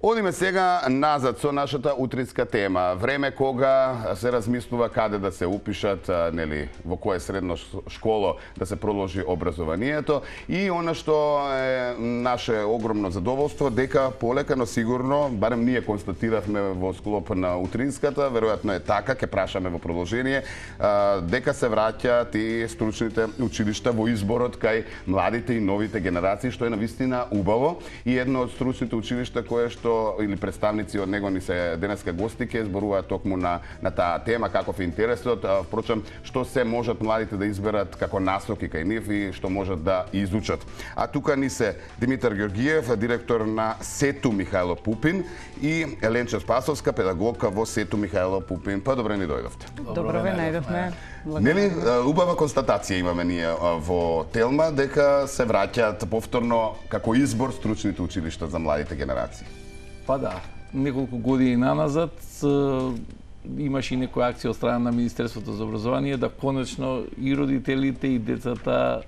Одиме сега назад со нашата утринска тема. Време кога се размислува каде да се упишат, нели, во кое средно школо да се продолжи образованието, и она што е наше огромно задоволство дека полека но сигурно, барем ние констатиравме во склоп на утринската, веројатно е така, ќе прашаме во продолжение, дека се враќаат и стручните училишта во изборот кај младите и новите генерации, што е навистина убаво, и едно од стручните училишта кое што или представници од него ни се денеска гости ке зборуваат токму на таа тема, каков е интересот, впрочем што се можат младите да изберат како насоки кај нив и што можат да изучат. А тука ни се Димитар Ѓорѓиев, директор на СЕТУ Михајло Пупин, и Еленча Спасовска, педагогка во СЕТУ Михајло Пупин. Па добре ни дојдовте. Добро ве најдовме. Нели, убава констатација имаме ние во Телма дека се враќаат повторно како избор стручните училишта за младите генерации. Па да, неколку години наназад имаше и некоја акција од страна на Министерството за образование да конечно и родителите и децата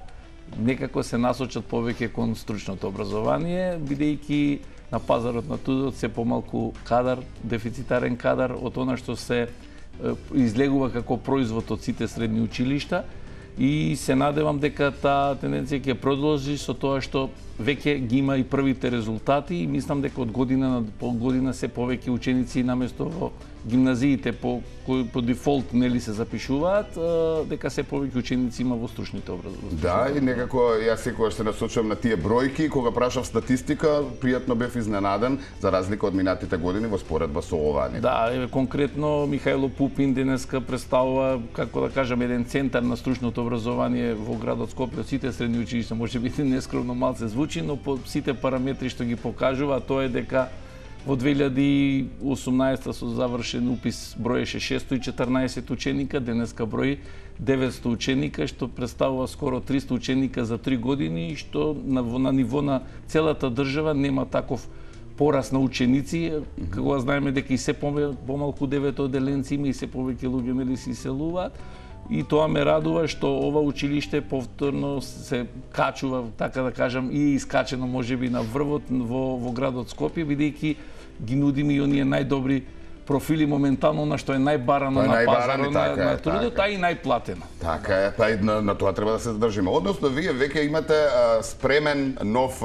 некако се насочат повеќе кон стручното образование, бидејќи на пазарот на трудот се помалку кадар, дефицитарен кадар од она што се излегува како производ од сите средни училишта, и се надевам дека таа тенденција ќе продолжи со тоа што веќе ги има и првите резултати, и мислам дека од година на година се повеќе ученици наместо во гимназиите по дефолт нели се запишуваат, дека се повеќе ученици има во стручните образовани. Да, и некако јас секогаш се насочувам на тие бројки, кога прашав статистика, пријатно бев изненаден за разлика од минатите години во споредба со ова. Да, конкретно Михајло Пупин денеска представува, како да кажам, еден центар на стручното образование во градот Скопје од сите средни училишта. Може би нескромно малце звучи, но по сите параметри што ги покажува, тоа е дека во 2018 со завршен упис броеше 614 ученика, денеска брои 900 ученика, што представува скоро 300 ученика за 3 години, што на ниво на целата држава нема таков пораст на ученици, кога знаеме дека и се помалку деветоделенци има и се повеќе луѓе нели се иселуваат. И тоа ме радува што ова училиште повторно се качува, така да кажам, и искачено можеби на врвот во градот Скопје, бидејќи ги нудиме и оние најдобри профили моментално на што е најбарано на пазарот на трудот, а и најплатено. Така е, па и на тоа треба да се задржиме. Односно, вие веќе имате спремен нов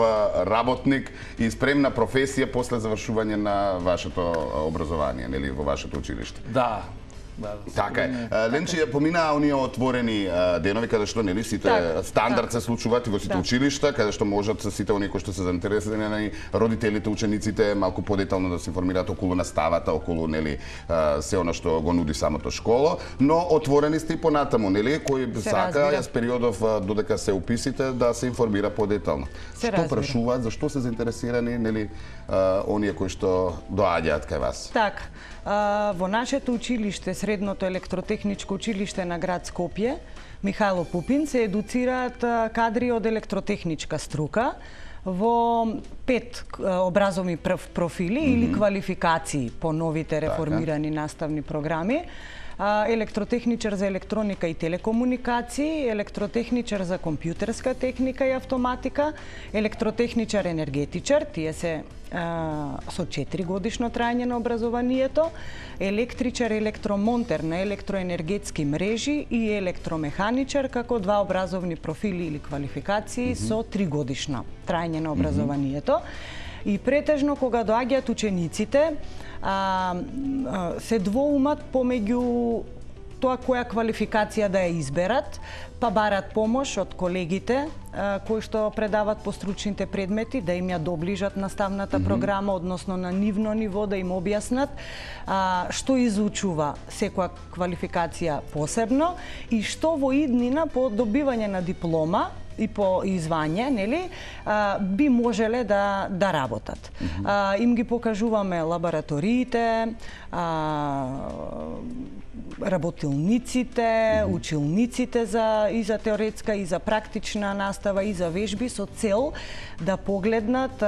работник и спремна професија после завршување на вашето образование, нели, во вашето училиште. Да. Така е. Ленчи, поминаа оние отворени денови каде што нели сите стандард се случуваат и во сите училишта, каде што можат сите оние кои што се заинтересирани, родителите, учениците малку подетално да се информираат околу наставата, околу нели се она што го нуди самото школо, но отворени сте и понатаму, нели, кој сака јас периодов додека се уписите да се информира подетално. Што прашуваат, зашто се заинтересирани, нели, оние кои што доаѓаат кај вас? Така. Во нашето училиште, Средното електротехничко училиште на град Скопје, Михајло Пупин, се едуцираат кадри од електротехничка струка во 5 образовни профили или квалификации по новите реформирани наставни програми. Електротехничар за електроника и телекомуникации, електротехничар за компјутерска техника и автоматика, електротехничар енергетичар, тие се со 4 годишно трајање на образованието, електричар, електромонтер на електроенергетски мрежи и електромеханичар како 2 образовни профили или квалификации со 3 годишно трајање на образованието. И претежно кога доаѓаат учениците, се двоумат помеѓу тоа која квалификација да ја изберат, па барат помош од колегите кои што предават по стручните предмети, да им ја доближат наставната програма, односно на нивно ниво, да им објаснат што изучува секоја квалификација посебно и што во иднина по добивање на диплома и по извање, нели, би можеле да работат. Им ги покажуваме лабораториите, работилниците, училниците и за теоретска и за практична настава и за вежби со цел да погледнат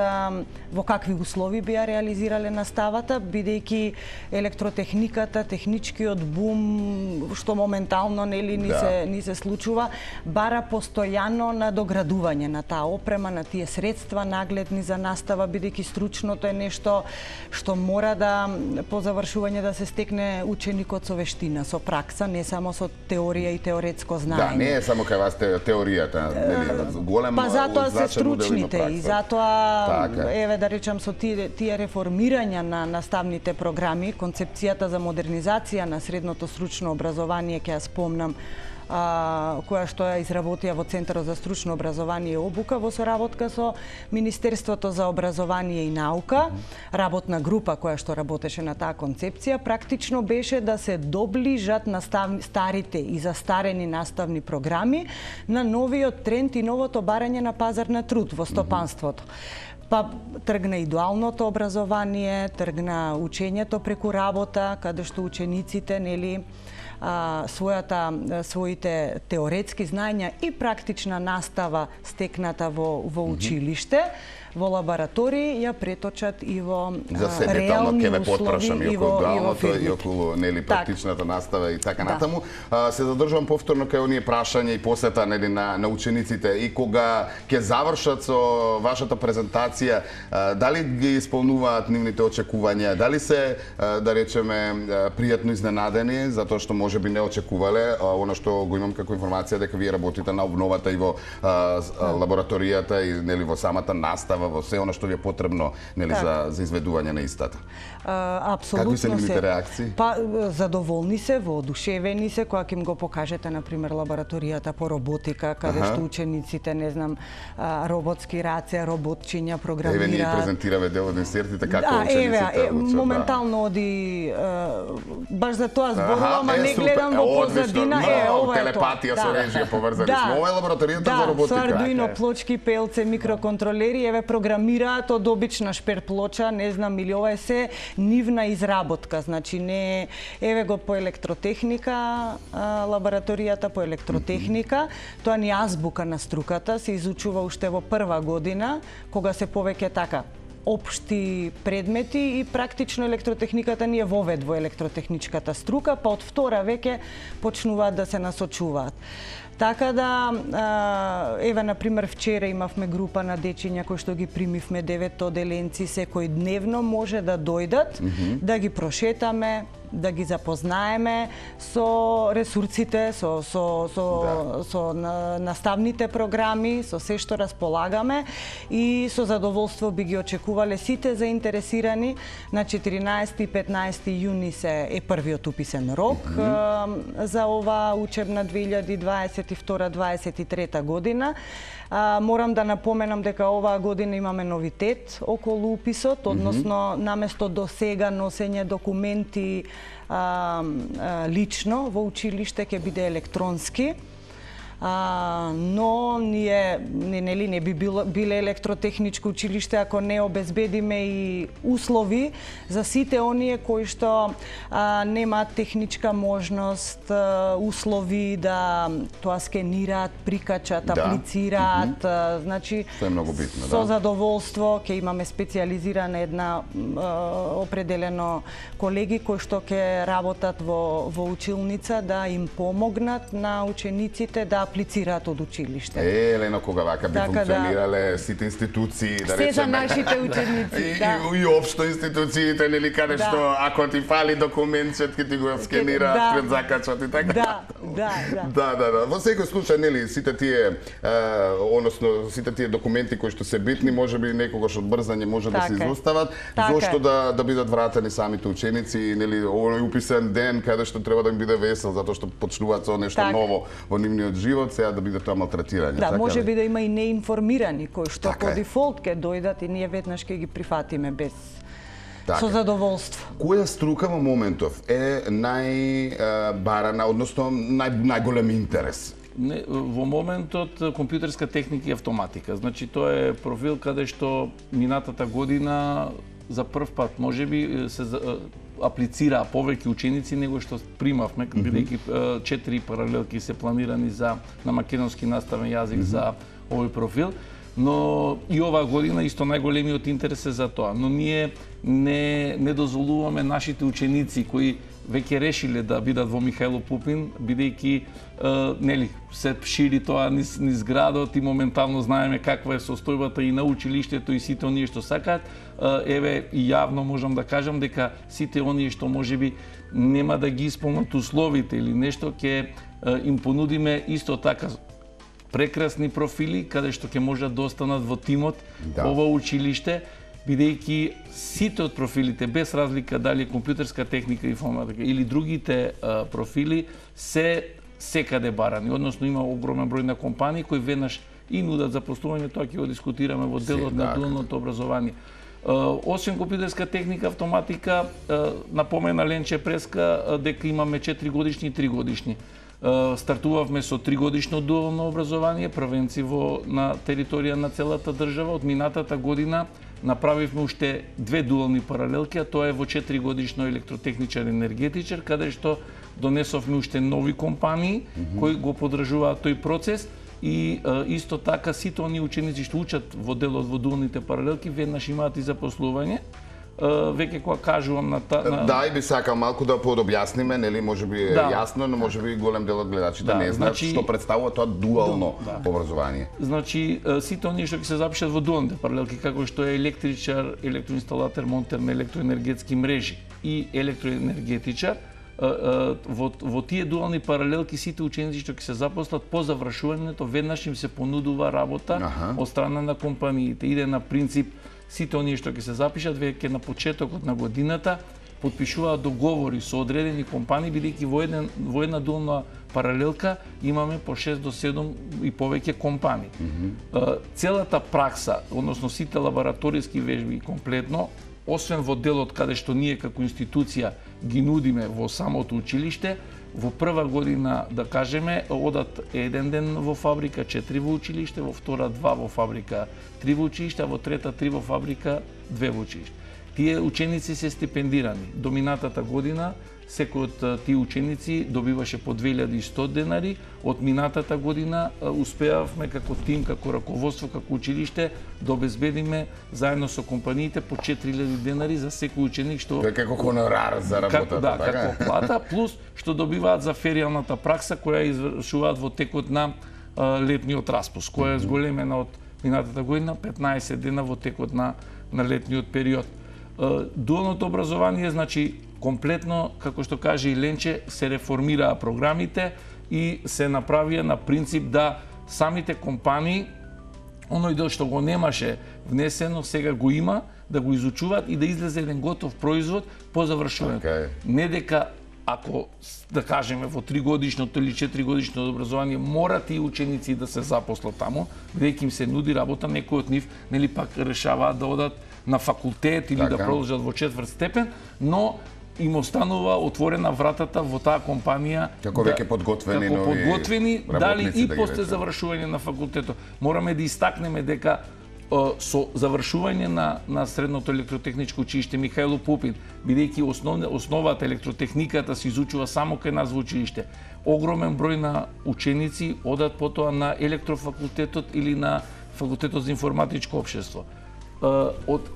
во какви услови би ја реализирале наставата, бидејќи електротехниката, техничкиот бум што моментално ни се случува, бара постојано надоградување на таа опрема, на тие средства нагледни за настава, бидејќи стручното е нешто што мора да по завршување да се стекне ученикот со вештина, со пракса, не само со теорија и теоретско знаење. Да, не е само кај вас теоријата, нели, голема. Па затоа се стручните и затоа еве да речам со тие реформирања на наставните програми, концепцијата за модернизација на средното стручно образование, ќе ја спомнам, која што ја изработија во Центарот за стручно образование и обука во соработка со Министерството за образование и наука, работна група која што работеше на таа концепција, практично беше да се доближат старите и застарени наставни програми на новиот тренд и новото барање на пазар на труд во стопанството. Па тргна и дуалното образование, тргна учењето преку работа, каде што учениците, нели, своите теоретски знаења и практична настава стекната во училиште, во лаборатории ја преточат и во реални услови и во дуалното и околу нели практичната настава и така натаму. Се задржувам повторно кај оние прашања и посета нели на учениците и кога ќе завршат со вашата презентација, дали ги исполнуваат нивните очекувања, дали се да речеме пријатно изненадени затоа што можеби не очекувале она што го имам како информација дека вие работите на обновата и во лабораторијата и нели во самата настава, во се она што ви е потребно нели за изведување на истата. Апсолутно. Какви се нивните реакции? Па задоволни се, воодушевени се кога ќе им го покажете на пример лабораторијата по роботика, каде што учениците, не знам, роботски раце, роботчиња програмираат. Еве ние презентираме дел од инсертите како учениците учат. Моментално оди баш за тоа зборувам, а не гледам во позадина, ова е тоа. Телепатија со режија поврзани сме. Ова е лабораторијата за роботика. Со Arduino плочки, пелце, микроконтролери, еве програмираат од обична шпер плоча, не знам, или ова е се нивна изработка, значи не еве го по електротехника, лабораторијата по електротехника, тоа ни азбука на струката, се изучува уште во прва година, кога се повеќе така општи предмети и практично електротехниката ни е вовед во електротехничката струка, па од втора веќе почнуваат да се насочуваат. Така да, еве, например, вчера имавме група на дечиња кои што ги примивме 9 оделенци, секој дневно може да дојдат, да ги прошетаме, да ги запознаеме со ресурсите, со наставните програми, со се што располагаме и со задоволство би ги очекувале сите заинтересирани. На 14 и 15 јуни е првиот уписен рок за ова учебна 2022-2023 година. Морам да напоменам дека оваа година имаме новитет околу уписот, односно наместо до сега носење документи лично во училиште ќе биде електронски. Но ние не би биле електротехничко училиште ако не обезбедиме и услови за сите оние кои што немаат техничка можност, услови да тоа скенираат, прикачат, аплицираат, значи тоа е многу битно, со задоволство ќе имаме специјализирана една определено колеги кои што ќе работат во училница да им помогнат на учениците да аплицираат од училиште. Елено, кога вака би функционирале сите институции, да речеме. Се за нашите ученици, да. И општо институциите, нели, каде што ако ти фали документчет, ќе ти го скенираат, пред закачат и така. Да. Во секој случај, нели, сите тие, односно, сите тие документи кои што се битни, можеби некогаш од брзање може да се изостават, зошто да бидат вратени самите ученици, нели, овој уписен ден каде што треба да им биде весел, затоа што почнуваат со нешто ново во нивниот живот, сега да биде тоа малтретирање. Да, може би да има и неинформирани кои што по дефолт ќе дојдат и ние веднаш ќе ги прифатиме без со задоволство. Која струка во моментов е најбарана, односно најголем интерес? Во моментот компјутерска техника и автоматика. Значи тоа е профил каде што минатата година за прв пат можеби се аплицираа повеќе ученици него што примавме, бидејќи 4 паралелки се планирани на македонски наставен јазик за овој профил. Но и оваа година исто најголемиот интерес е за тоа. Но ние не дозволуваме нашите ученици кои веќе решиле да бидат во Михајло Пупин, бидејќи нели се шири тоа низ градот и моментално знаеме каква е состојбата и на училиштето и сите оние што сакаат. Еве и јавно можам да кажам дека сите оние што можеби нема да ги исполнат условите или нешто, ќе им понудиме исто така прекрасни профили каде што ќе можат да останат во тимот ова училиште, бидејќи сите од профилите, без разлика дали е компјутерска техника, информатика или другите профили, се секаде барани. Односно има огромен број на компании кои веднаш и нудат запослување, тоа ќе го дискутираме во делот на дуалното образование. Освен компјутерска техника, автоматика, напомена Ленче Преска дека имаме 4 годишни и 3 годишни. Стартувавме со 3-годишно дуално образование, првенци на територија на целата држава. Од минатата година направивме уште 2 дуални паралелки, а тоа е во 4-годишно електротехничар енергетичар, каде што донесовме уште нови компании кои го поддржуваат тој процес и исто така сите оние ученици што учат во делот во дуалните паралелки веднаш имаат и запослување. Веќе кога кажувам на Да, и би сакал малку да подобјасниме, нели, можеби е јасно, но можеби голем дел од гледачите не знаат што представува тоа дуално образование. Значи, сите оние што ќе се запишат во дуалните паралелки, како што е електричар, електроинсталатер, монтер на електроенергетски мрежи и електроенергетичар, во тие дуални паралелки сите ученици што ќе се запослат по завршувањето веднаш им се понудува работа од страна на компаниите. Иде на принцип сите оние што ќе се запишат веќе на почетокот на годината потпишуваат договори со одредени компании, бидејќи во една дуална паралелка имаме по 6 до 7 и повеќе компании. Целата пракса, односно сите лабораториски вежби комплетно, освен во делот каде што ние како институција ги нудиме во самото училиште, во прва година, да кажеме, одат 1 ден во фабрика, 4 во училиште, во втора 2 во фабрика, 3 во училиште, а во трета 3 во фабрика, 2 во училиште. Тие ученици се стипендирани. До минатата година секој од тие ученици добиваше по 2100 денари. Од минатата година успеавме како тим, како раководство, како училиште да обезбедиме заедно со компаниите по 4000 денари за секој ученик што Тоа е како хонорар за работата, така? Да, како плата, плюс што добиваат за феријалната пракса која извршуваат во текот на летниот распуст, која е зголемена од минатата година 15 дена во текот на летниот период. Дуалното образование, значи, комплетно, како што каже и Ленче, се реформираа програмите и се направија на принцип да самите компании, оној дел што го немаше внесено, сега го има, да го изучуваат и да излезе еден готов производ по завршувањето. Не дека ако, да кажеме, во 3-годишното или 4-годишното образование мора тие ученици да се запослат таму, бидејќи им се нуди работа, некои од нив нели пак решаваат да одат на факултет или да продолжат во 4 степен, но им останува отворена вратата во таа компанија како веќе подготвени дали и после завршување на факултетот. Мораме да истакнеме дека со завршување на средното електротехничко училиште Михајло Пупин, бидејќи основата електротехниката се изучува само кај нас во училиште, огромен број на ученици одат потоа на електрофакултетот или на факултетот за информатичко општество.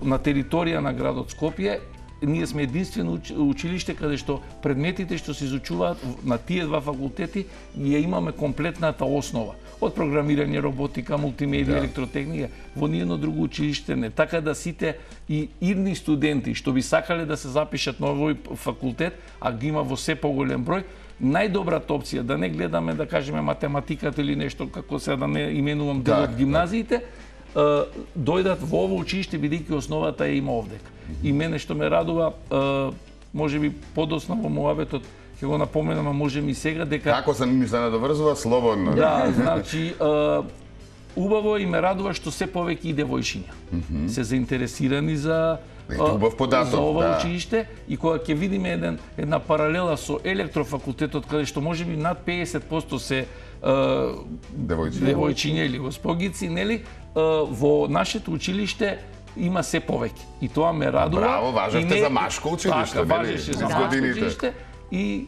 На територија на градот Скопје ние сме единствено училиште каде што предметите што се изучуваат на тие два факултети ја имаме комплетната основа. Од програмирање, роботика, мултимедија, електротехника, во ниедно друго училиште не. Така да сите и идни студенти што би сакале да се запишат на овој факултет, а ги има во се поголем број, најдобрата опција, да не гледаме, да кажеме, математиката или нешто, како сега да не именувам дел од гимназиите, дојдат во ово училиште, бидејќи основата е има овдека. И мене што ме радува, можеби подоцна во муабетот, ќе го напоменам, а можем и сега, дека... Како се ми се надоврзува, слободно. Да, значи, убаво и ме радува што се повеќе и девојшиња се заинтересирани за ова училиште, и кога ќе видиме една паралела со електрофакултетот, каде што можеби над 50% се девојчиња или госпогици, нели, во нашето училиште има се повеќе. И тоа ме радува. Браво, важевте за машко училиште, така, важеше за машко училиште. И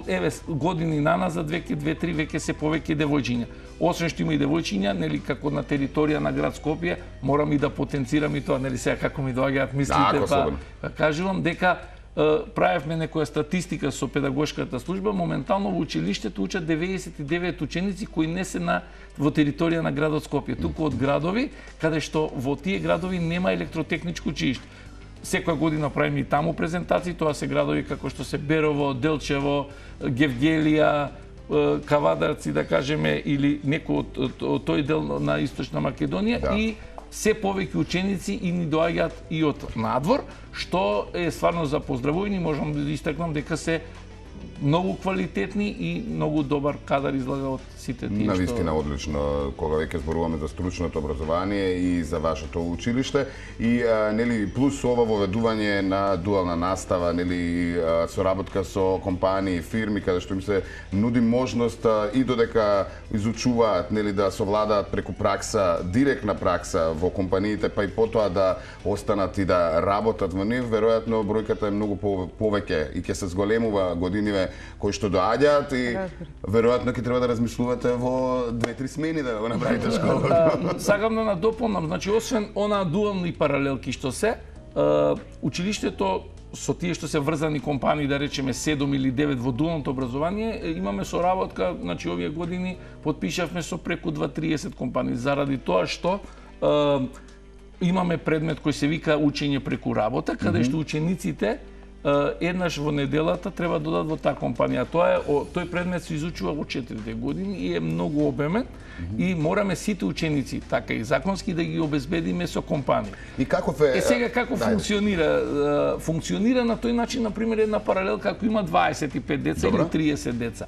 еве години наназад веќе 2-3 веќе се повеќе девојчиња. Освен што има и девојчиња, нели како на територија на град Скопје, морам и да потенцирам и тоа, нели сега како ми доаѓаат мислите, па кажувам дека правевме некоја статистика со педагошката служба, моментално во училиштето учат 99 ученици кои не се во територија на градот Скопје, туку од градови каде што во тие градови нема електротехничко училиште. Секоја година правиме и таму презентации, тоа се градови како што се Берово, Делчево, Гевгелија, Кавадарци, да кажеме, или некој од тој дел на Источна Македонија, и се повеќе ученици и ни доаѓаат и од надвор, што е стварно за поздравување. Можам да истакнам дека се многу квалитетни и многу добар кадар излага од сите тие. Навистина одлично, кога веќе зборуваме за стручното образование и за вашето училиште, и нели плюс ова воведување на дуална настава, нели соработка со компании, фирми каде што им се нуди можност и додека изучуваат, нели да совладаат преку пракса, директна пракса во компаниите, па и потоа да останат и да работат во нив, веројатно бројката е многу повеќе и ќе се зголемува годиниве кои што доаѓаат и веројатно ќе треба да размислувате во 2-3 смени да го направите школата. Сакам да надополнам, значи освен она дуални паралелки што се, училиштето со тие што се врзани компании, да речеме 7 или 9 во дуалното образование, имаме соработка, значи овие години потпишавме со преку 2-30 компании заради тоа што имаме предмет кој се вика учење преку работа, каде што учениците еднаш во неделата треба да додат во таа компанија. Тој предмет се изучува во 4 години и е многу обемен и мораме сите ученици, така и законски, да ги обезбедиме со компанија. И каков е... Сега како функционира? Функционира на тој начин, например, една паралелка ако има 25 деца или 30 деца.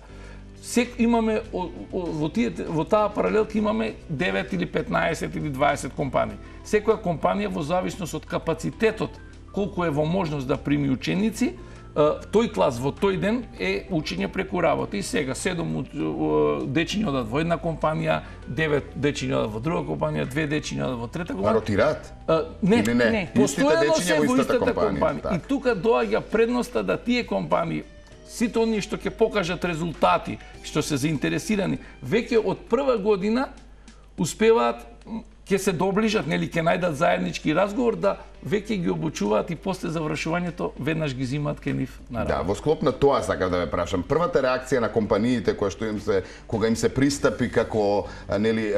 Имаме во таа паралелка имаме 9 или 15 или 20 компании. Секоја компанија во зависност од капацитетот колку е во можност да прими ученици, тој клас во тој ден е учење преку работа. И сега 7 дечиња одат во една компанија, 9 дечиња одат во друга компанија, 2 дечиња одат во трета компанија. Ротираат? Не. Постојано се во истата компанија. И тука доаѓа предноста да тие компании, сите оние што ќе покажат резултати, што се заинтересирани, веќе од прва година успеваат, ќе се доближат, нели ќе најдат заеднички разговор, да веќе ги обучуваат и после завршувањето веднаш ги зимаат кај нив на работа. Да, во склоп на тоа сакав да ве прашам. Првата реакција на компаниите кога им се пристапи како нели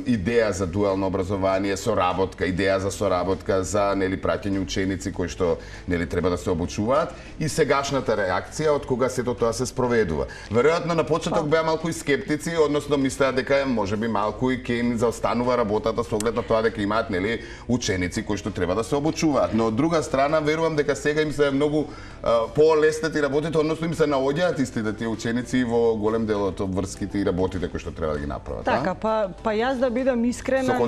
идеја за дуално образование, соработка, идеја за соработка за нели праќање ученици кои што нели треба да се обучуваат, и сегашната реакција од кога сето тоа се спроведува. Веројатно на почеток беа малку и скептици, односно мислеа дека можеби малку и ќе им заостанува работата со оглед на тоа дека имаат нели ученици кои што треба да се обучуваат. Но од друга страна верувам дека сега им се многу полеснети работите, односно им се наоѓаат истите тие ученици во голем дел од врските и работите кои што треба да ги направат. Така, па јас да бидам искрена,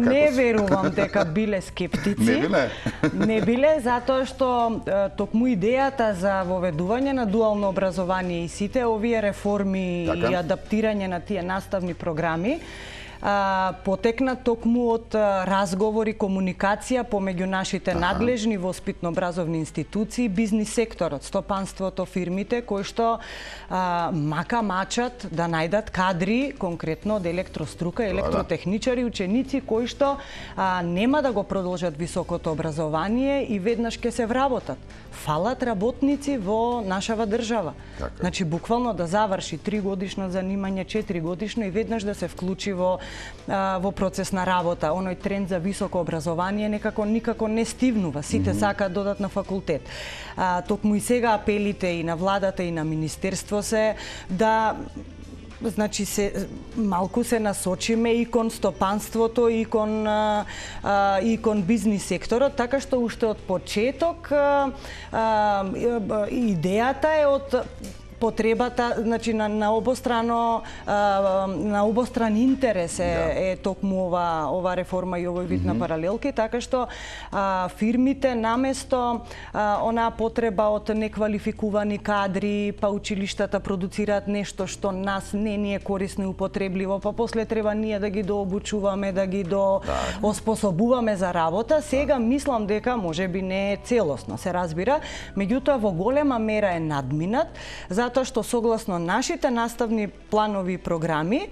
не верувам дека биле скептици. Не биле? Не биле, затоа што токму идејата за воведување на дуално образование и сите овие реформи и адаптирање на тие наставни програми потекна токму од разговори, комуникација помеѓу нашите надлежни воспитно-образовни институции, бизнис секторот, стопанството, фирмите, кои што мачат да најдат кадри, конкретно од електрострука, електротехничари, ученици кои што нема да го продолжат високото образование и веднаш ќе се вработат. Фалат работници во нашава држава. Значи, буквално да заврши 3 годишно занимање, 4 годишно и веднаш да се вклучи во процес на работа. Оној тренд за високо образование никако не стивнува. Сите сакаат да одат на факултет. Токму и сега апелите и на владата и на министерство се да значи малку се насочиме и кон стопанството и кон бизнис секторот, така што уште од почеток идејата е од потребата, значи на обостран интерес е токму ова реформа и овој вид на паралелки, така што фирмите наместо онаа потреба од неквалификувани кадри, па училиштата продуцираат нешто што нас не ни е корисно и употребливо, па после треба ние да ги дообучуваме, да ги оспособуваме за работа. Сега мислам дека можеби не е целосно, се разбира, меѓутоа во голема мера е надминат, затоа што согласно нашите наставни планови и програми,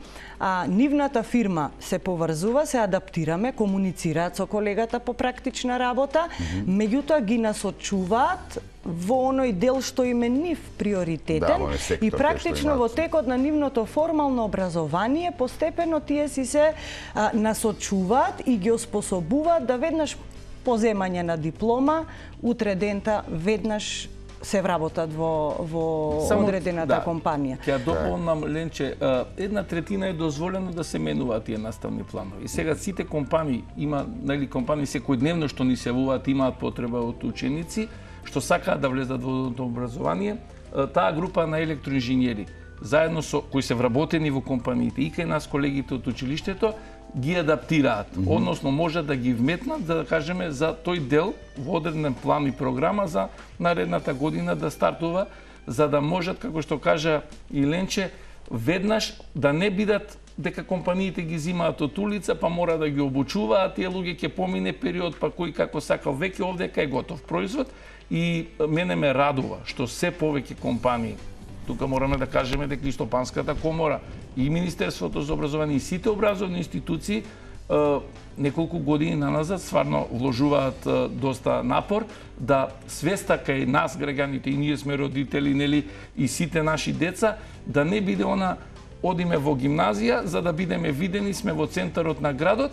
нивната фирма се поврзува, се адаптираме, комуницираат со колегата по практична работа, меѓутоа ги насочуваат во оној дел што им е нив приоритетен и практично во текот на нивното формално образование постепено тие си се насочуваат и ги оспособуваат да веднаш по земање на диплома, утре дента веднаш се вработат во одредената компанија. Ќе дополнам, Ленче, 1/3 е дозволено да се менуваат тие наставни планови. И сега сите компании има, компании секојдневно што ни се јавуваат, имаат потреба од ученици што сакаат да влезат во образование. Таа група на електроинженери, заедно со кои се вработени во компаниите и кај нас колегите од училиштето, ги адаптираат, односно можат да ги вметнат, да кажеме, за тој дел во одреден план и програма за наредната година да стартува, за да можат, како што кажа и Ленче, веднаш да не бидат дека компаниите ги зимаат од улица, па мора да ги обучуваат, тие луѓе ќе помине период, па кој како сакал, веќе овдека е готов производ. И мене ме радува што се повеќе компании, тука мораме да кажеме дека и Стопанската комора, и Министерството за образование, и сите образовни институции неколку години наназад стварно вложуваат доста напор да свеста кај нас граѓаните, и ние сме родители, нели, и сите наши деца, да не биде она одиме во гимназија за да бидеме видени, сме во центарот на градот,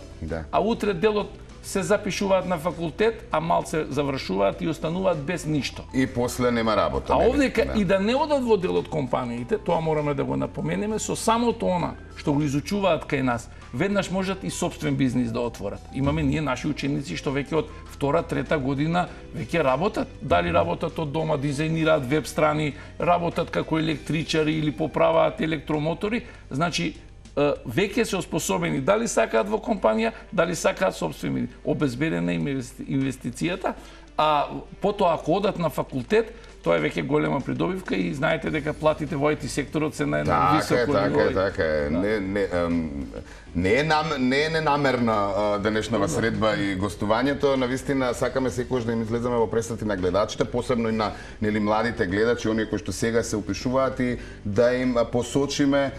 а утре делот се запишуваат на факултет, а малце завршуваат и остануваат без ништо. И после нема работа. А овдека и да не одат во дел од компаниите, тоа мораме да го напоменеме, со самото она што го изучуваат кај нас, веднаш можат и собствен бизнис да отворат. Имаме ние наши ученици што веќе од 2-3 година веќе работат. Дали работат од дома, дизајнираат веб страни, работат како електричари или поправаат електромотори, значи веќе се оспособени, дали сакаат во компанија, дали сакаат собствени, обезбедена инвестицијата, а потоа ако одат на факултет, тоа е веќе голема придобивка и знаете дека платите во IT секторот се на едно високо ниво. Така е. Не е ненамерна денешнава средба и гостувањето, навистина сакаме секогаш да им излеземе во престрати на гледачите, посебно и на младите гледачи, оние кои што сега се упишуваат, и да им посочиме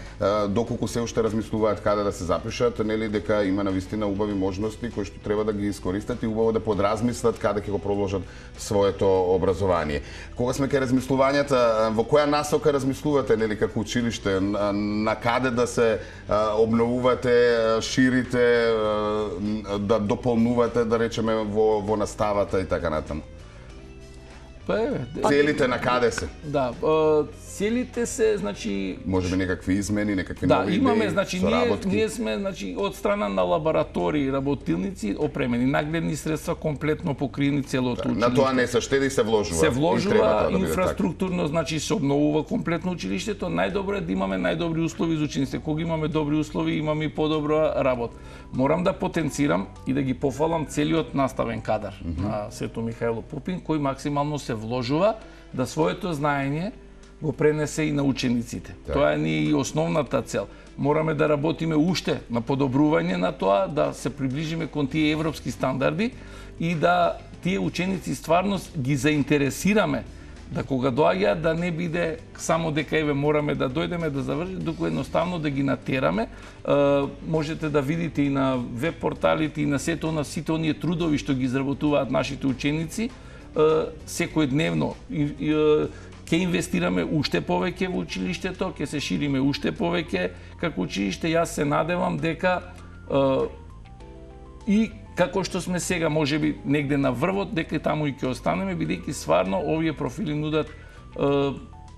доколку се уште размислуваат каде да се запишат, нели, дека има навистина убави можности кои што треба да ги искористат и убаво да подразмислат каде ќе го продолжат своето образование. Кога сме кај размислувањата, во која насока размислувате, нели, како училиште, на каде да се обновувате, ширите, да дополнувате, да речеме, во наставата и така натаму? Целите на каде се? Да, целите се, значи... Можеби некакви измени, некакви нови идеи, имаме, значи, соработки? ние сме, значи, од страна на лаборатории, работилници, опремени, нагледни средства, комплетно покриени целото училиште. На тоа не се штеди и се вложува? Се вложува, инфраструктурно, значи, се обновува комплетно училиштето. Најдобро е да имаме најдобри услови за учениците. Кога имаме добри услови, имаме и подобра работа. Морам да потенцирам и да ги пофалам целиот наставен кадар на Свето Михајло Пупин, кој максимално се вложува да своето знаење го пренесе и на учениците. Тоа е и основната цел. Мораме да работиме уште на подобрување на тоа, да се приближиме кон тие европски стандарди и да тие ученици стварно ги заинтересираме, да кога доаѓаат да не биде само дека еве мораме да дојдеме да завршиме, туку едноставно да ги натераме. Можете да видите и на веб порталите и на сите оние трудови што ги изработуваат нашите ученици секојдневно. Ќе инвестираме уште повеќе во училиштето, ќе се шириме уште повеќе како училиште. Јас се надевам дека и како што сме сега, можеби негде на врвот, дека таму и ќе останеме, бидејќи стварно овие профили нудат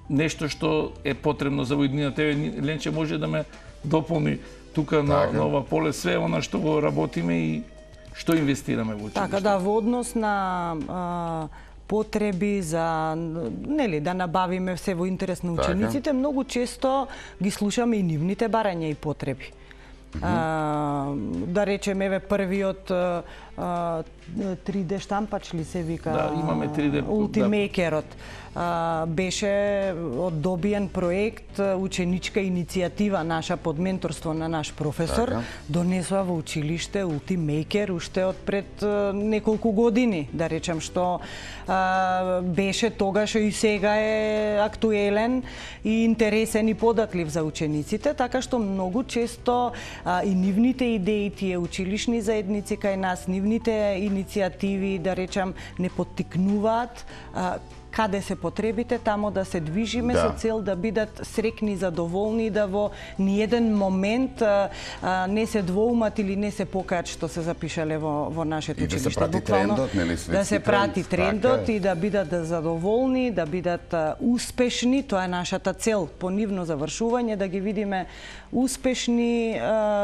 нешто што е потребно за војдината. Ленче може да ме дополни тука на ова поле све она што го работиме и што инвестираме во училиште. Така да, во однос на потреби, за нели да набавиме се во интерес на учениците, многу често ги слушаме и нивните барања и потреби. Да речеме, еве првиот 3D штампач ли се вика? Да, имаме 3D. Ultimakerот. Беше одобиен проект, ученичка иницијатива наша под менторство на наш професор, донесува во училиште Ultimaker уште од пред неколку години, да речем, што беше тогаш и сега е актуелен и интересен и податлив за учениците, така што многу често и нивните идеи, тие училишни заедници кај нас, нивните иницијативи, да речем, не поттикнуваат каде се потребите, тамо да се движиме со цел да бидат срекни, задоволни, да во ниеден момент не се двоумат или не се покаат што се запишале во нашето училиште. И да се прати трендот, нели, светски да се прати трендот така и да бидат задоволни, да бидат успешни, тоа е нашата цел по нивно завршување, да ги видиме успешни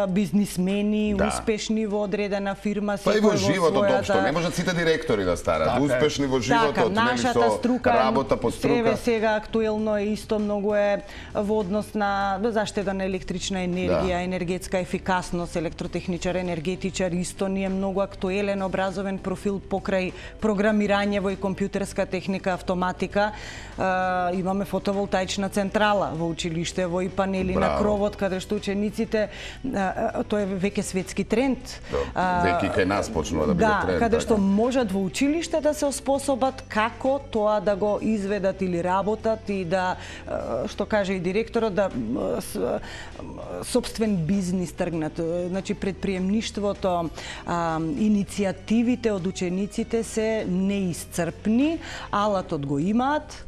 бизнисмени, успешни во одредена фирма, па и во животот општо, не можат сите директори да старат, успешни во животот, нели, со работа по струка. Еве сега актуелно е исто многу е во однос на заштеда на електрична енергија, енергетска ефикасност, електротехничар, енергетичар, исто ни е многу актуелен образовен профил покрај програмирање во и компјутерска техника, автоматика. Имаме фотоволтаична централа во училиште, во и панели на кровот, каде што учениците, тоа е веќе светски тренд. Веќе кај нас почнува да биде тренд. Каде што можат во училиште да се оспособат како тоа да го изведат или работат и да, што каже и директорот, да сопствен бизнис тргнат. Значи, предприемништвото, иницијативите од учениците се неисцрпни, алатот го имаат,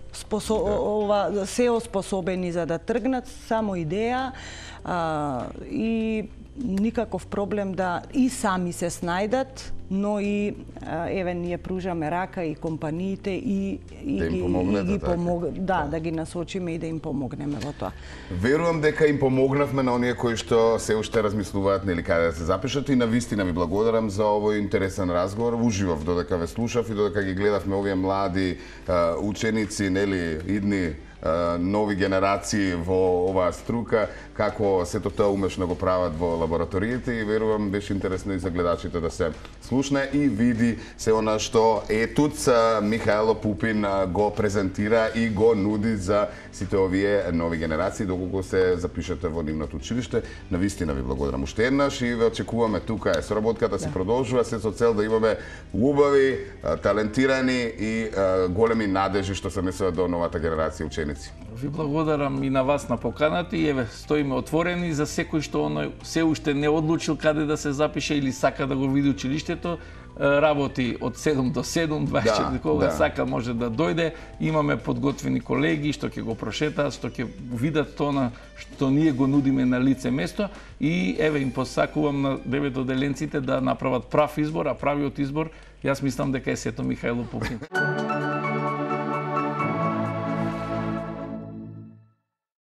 се оспособени за да тргнат, само идеја и никаков проблем да и сами се снајдат, но и еве ние пружаме рака и компаниите и да им помогнете, да ги насочиме и да им помогнеме во тоа. Верувам дека им помогнавме на оние кои што се уште размислуваат нели каде да се запишат и навистина ви благодарам за овој интересен разговор. Уживав додека ве слушав и додека ги гледавме овие млади ученици, нели, идни нови генерации во оваа струка, како сето тоа умешно го прават во лабораториите и верувам беше интересно и за гледачите да се слушне и види се она што ЕТУЦ Михаело Пупин го презентира и го нуди за сите овие нови генерации доколку се запишете во нивното училиште. Навистина ви благодарам уште еднаш и ве очекуваме тука. Соработката се продолжува се со цел да имаме убави, талентирани и големи надежи што се несуваат до новата генерација ученици. Ви благодарам и на вас на поканата и еве стоиме отворени за секој што се уште не одлучил каде да се запише или сака да го види училиштето. Работи од 7 до 7, 24 кога сака може да дојде. Имаме подготвени колеги што ќе го прошетаат, што ќе видат тоа што ние го нудиме на лице место и еве им посакувам на 9 одделенците да направат прав избор, а правиот избор јас мислам дека е сето Михаело Пупин.